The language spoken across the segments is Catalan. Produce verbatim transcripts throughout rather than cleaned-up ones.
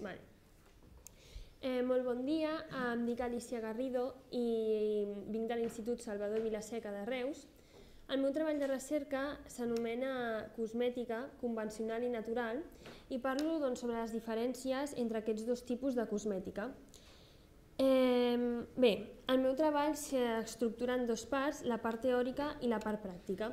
Vale. Eh, molt bon dia, em dic Alicia Garrido i vinc de l'Institut Salvador Vilaseca de Reus. El meu treball de recerca s'anomena cosmètica convencional i natural i parlo doncs, sobre les diferències entre aquests dos tipus de cosmètica. Eh, bé, el meu treball s'estructura en dues parts, la part teòrica i la part pràctica.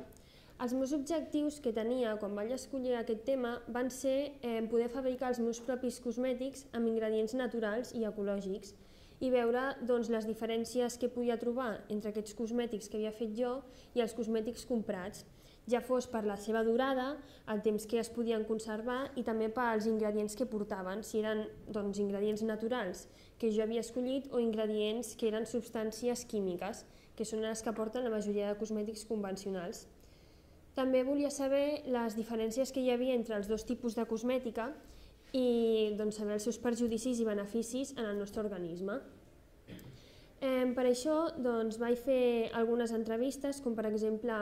Els meus objectius que tenia quan vaig escollir aquest tema van ser eh, poder fabricar els meus propis cosmètics amb ingredients naturals i ecològics i veure doncs, les diferències que podia trobar entre aquests cosmètics que havia fet jo i els cosmètics comprats, ja fos per la seva durada, el temps que es podien conservar i també pels ingredients que portaven, si eren doncs, ingredients naturals que jo havia escollit o ingredients que eren substàncies químiques, que són les que porten la majoria de cosmètics convencionals. També volia saber les diferències que hi havia entre els dos tipus de cosmètica i doncs, saber els seus perjudicis i beneficis en el nostre organisme. Eh, per això doncs, vaig fer algunes entrevistes, com per exemple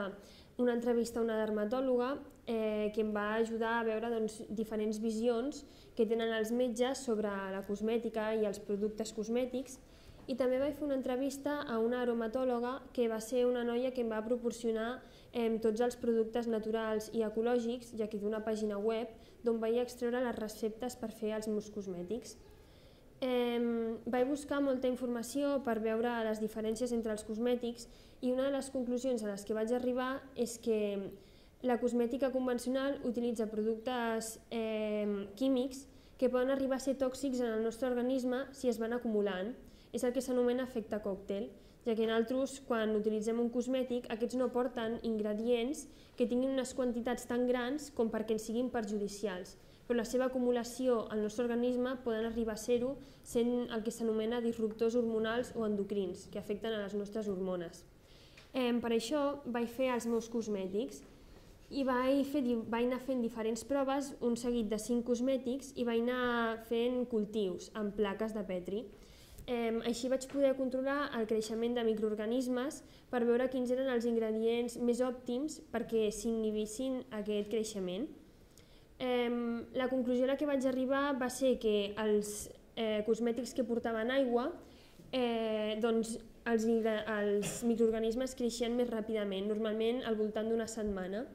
una entrevista a una dermatòloga eh, que em va ajudar a veure doncs, diferents visions que tenen els metges sobre la cosmètica i els productes cosmètics. I també vaig fer una entrevista a una aromatòloga que va ser una noia que em va proporcionar eh, tots els productes naturals i ecològics, ja que té una pàgina web d'on vaig extreure les receptes per fer els meus cosmètics. Eh, vaig buscar molta informació per veure les diferències entre els cosmètics i una de les conclusions a les que vaig arribar és que la cosmètica convencional utilitza productes eh, químics que poden arribar a ser tòxics en el nostre organisme si es van acumulant. És el que s'anomena efecte còctel, ja que nosaltres, quan utilitzem un cosmètic, aquests no porten ingredients que tinguin unes quantitats tan grans com perquè ens siguin perjudicials, però la seva acumulació al nostre organisme poden arribar a ser-ho sent el que s'anomena disruptors hormonals o endocrins, que afecten a les nostres hormones. Eh, per això vaig fer els meus cosmètics i vaig, fer, vaig anar fent diferents proves, un seguit de cinc cosmètics, i vaig anar fent cultius amb plaques de Petri. Eh, així vaig poder controlar el creixement de microorganismes per veure quins eren els ingredients més òptims perquè s'inhibissin aquest creixement. Eh, la conclusió a la que vaig arribar va ser que els eh, cosmètics que portaven aigua, eh, doncs els, els microorganismes creixien més ràpidament, normalment al voltant d'una setmana.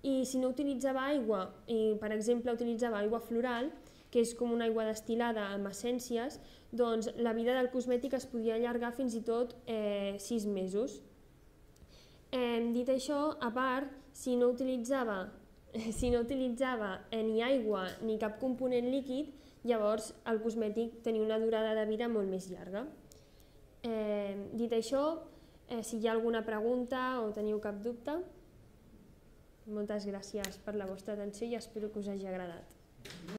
I si no utilitzava aigua, i per exemple utilitzava aigua floral, que és com una aigua destil·lada amb essències, doncs la vida del cosmètic es podia allargar fins i tot eh, sis mesos. Eh, dit això, a part, si no utilitzava, si no utilitzava eh, ni aigua ni cap component líquid, llavors el cosmètic tenia una durada de vida molt més llarga. Eh, dit això, eh, si hi ha alguna pregunta o teniu cap dubte, moltes gràcies per la vostra atenció i espero que us hagi agradat.